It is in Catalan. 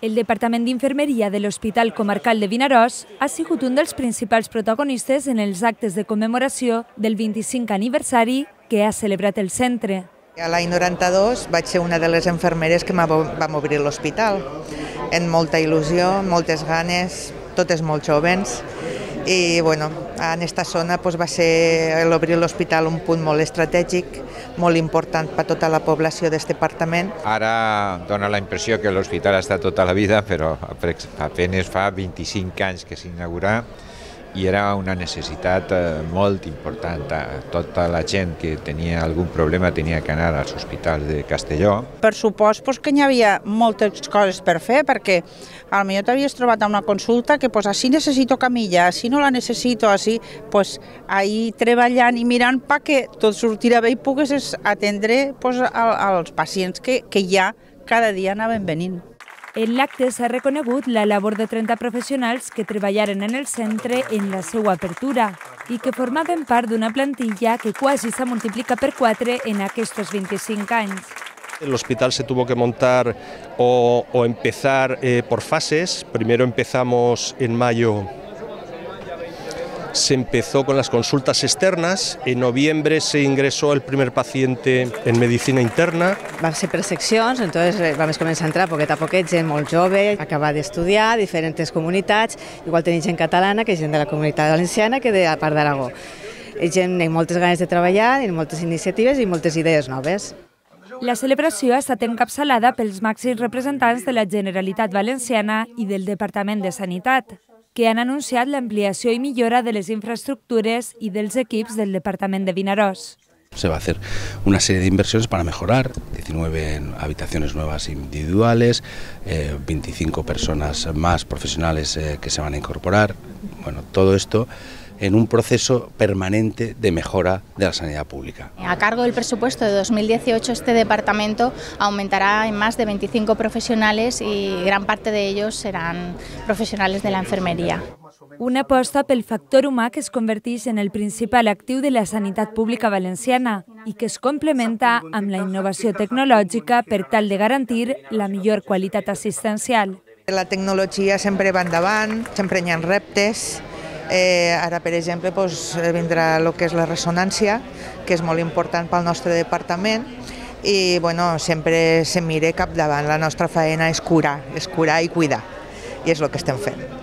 El Departament d'Infermeria de l'Hospital Comarcal de Vinaròs ha sigut un dels principals protagonistes en els actes de commemoració del 25 aniversari que ha celebrat el centre. A l'any 92 vaig ser una de les infermeres que vam obrir l'hospital, amb molta il·lusió, moltes ganes, totes molt joves. I bueno, en aquesta zona va ser l'obrir l'hospital un punt molt estratègic, molt important per a tota la població d'aquest departament. Ara dona la impressió que l'hospital ha estat tota la vida, però apenas fa 25 anys que s'inaugurà i era una necessitat molt important. Tota la gent que tenia algun problema tenia que anar als hospitals de Castelló. Per supost que hi havia moltes coses per fer, perquè potser t'havies trobat a una consulta que així necessito camilla, així no la necessito, així, ahir treballant i mirant perquè tot sortirà bé i poguessis atendre als pacients que ja cada dia anaven venint. En l'acte s'ha reconegut la labor de 30 professionals que treballaren en el centre en la seva apertura i que formaven part d'una plantilla que quasi s'ha multiplicat per 4 en aquests 25 anys. El hospital se tuvo que montar o empezar por fases. Primero empezamos en mayo. Se empezó con las consultas externas, en noviembre se ingresó el primer paciente en medicina interna. Van ser per seccions, entonces vam començar a entrar poquet a poquet, gent molt jove, acabar d'estudiar, diferents comunitats, igual tenim gent catalana que gent de la comunitat valenciana que de la part d'Aragó. Gent amb moltes ganes de treballar, amb moltes iniciatives i moltes idees noves. La celebració ha estat encapçalada pels màxims representants de la Generalitat Valenciana i del Departament de Sanitat, que han anunciat l'ampliació i millora de les infraestructures i dels equips del Departament de Vinaròs. Se va a hacer una serie de inversiones para mejorar, 19 habitaciones nuevas individuales, 25 personas más profesionales que se van a incorporar. Bueno, todo esto en un proceso permanente de mejora de la sanidad pública. A cargo del presupuesto de 2018, este departamento aumentará en más de 25 profesionales y gran parte de ellos serán profesionales de la enfermería. Una aposta pel factor humà que es converteix en el principal actiu de la sanitat pública valenciana i que es complementa amb la innovació tecnològica per tal de garantir la millor qualitat assistencial. La tecnologia sempre va endavant, sempre hi ha reptes. Ara, per exemple, vindrà el que és la ressonància, que és molt important pel nostre departament, i sempre se mira capdavant. La nostra feina és curar i cuidar, i és el que estem fent.